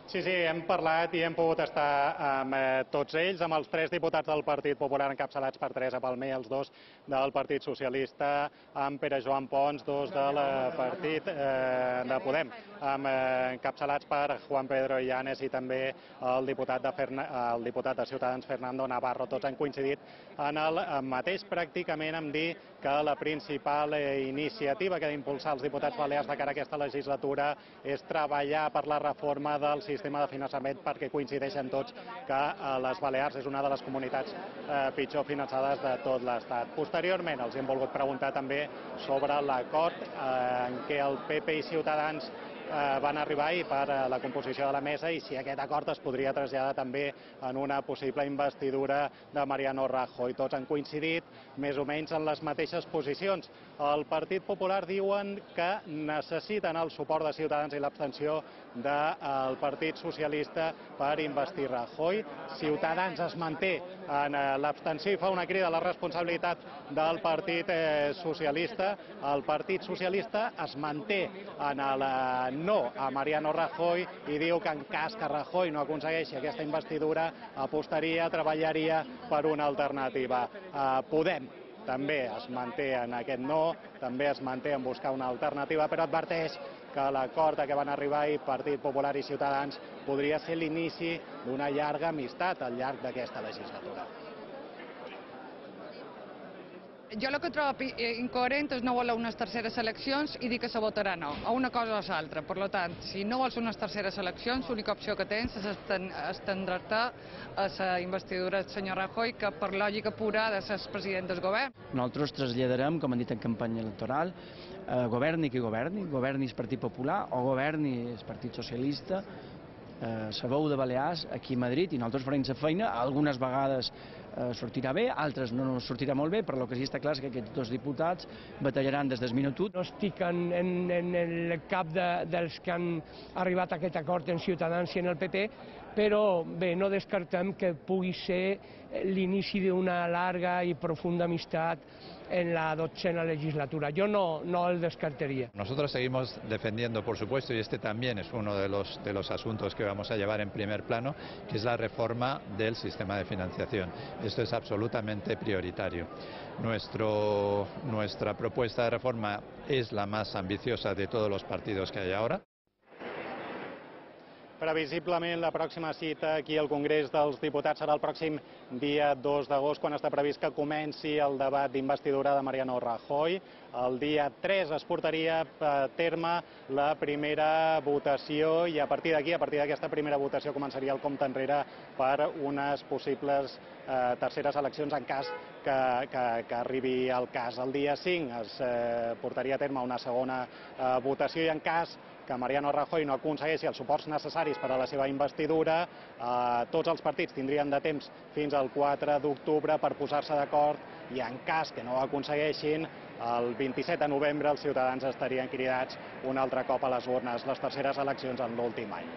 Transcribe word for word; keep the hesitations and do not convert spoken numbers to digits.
Sí, sí, hem parlat i hem pogut estar amb eh, tots ells, amb els tres diputats del Partit Popular encapçalats per Teresa Palmer, els dos del Partit Socialista, amb Pere Joan Pons, dos del Partit eh, de Podem, amb, eh, encapçalats per Juan Pedro Illanes i també el diputat, de Ferna, el diputat de Ciutadans, Fernando Navarro. Tots han coincidit en el mateix, pràcticament, en dir que la principal eh, iniciativa que ha d'impulsar els diputats balears de cara a aquesta legislatura és treballar per la reforma del sistema sistema de finançament, perquè coincideixen tots que les Balears és una de les comunitats eh, pitjor finançades de tot l'Estat. Posteriorment els hem volgut preguntar també sobre l'acord eh, en què el P P i Ciutadans eh, van arribar ahir per a la composició de la mesa i si aquest acord es podria traslladar també en una possible investidura de Mariano Rajoy. Tots han coincidit més o menys en les mateixes posicions. El Partit Popular diuen que necessiten el suport de Ciutadans i l'abstenció del Partit Socialista per investir Rajoy. Ciutadans es manté en l'abstenció i fa una crida a la responsabilitat del Partit Socialista. El Partit Socialista es manté en el no a Mariano Rajoy i diu que en cas que Rajoy no aconsegueixi aquesta investidura apostaria, treballaria per una alternativa. Podem també es manté en aquest no, també es manté en buscar una alternativa, però adverteix que l'acord a què van arribar ahir Partit Popular i Ciutadans podria ser l'inici d'una llarga amistat al llarg d'aquesta legislatura. Jo el que trobo incoherent és no voler unes terceres eleccions i dir que se votarà no, a una cosa o a l'altra. Per tant, si no vols unes terceres eleccions, l'única opció que tens és estendre-te a la investidura del senyor Rajoy, que per lògica pura ha de ser el president del govern. Nosaltres traslladarem, com han dit en campanya electoral, eh, governi qui governi, governi el Partit Popular o governi el Partit Socialista, eh, la veu de Balears aquí a Madrid, i nosaltres farem la feina, algunes vegades eh, sortirà bé, altres no sortirà molt bé, però el que sí està clar és que aquests dos diputats batallaran des del minut u. No estic en, en, en el cap de, dels que han arribat a aquest acord en Ciutadans i en el P P, però bé, no descartem que pugui ser l'inici d'una larga i profunda amistat en la dotzena legislatura. Yo no, no el descartaría. Nosotros seguimos defendiendo, por supuesto, y este también es uno de los, de los asuntos que vamos a llevar en primer plano, que es la reforma del sistema de financiación. Esto es absolutamente prioritario. Nuestro, nuestra propuesta de reforma es la más ambiciosa de todos los partidos que hay ahora. Previsiblement la pròxima cita aquí al Congrés dels Diputats serà el pròxim dia dos d'agost, quan està previst que comenci el debat d'investidura de Mariano Rajoy. El dia tres es portaria a terme la primera votació i a partir d'aquí, a partir d'aquesta primera votació, començaria el compte enrere per unes possibles eh, terceres eleccions en cas que, que, que arribi el cas. El dia cinc es eh, portaria a terme una segona eh, votació i en cas que Mariano Rajoy no aconsegueixi els suports necessaris per a la seva investidura, eh, tots els partits tindrien de temps fins al quatre d'octubre per posar-se d'acord i en cas que no ho aconsegueixin, el vint-i-set de novembre els ciutadans estarien cridats un altre cop a les urnes, les terceres eleccions en l'últim any.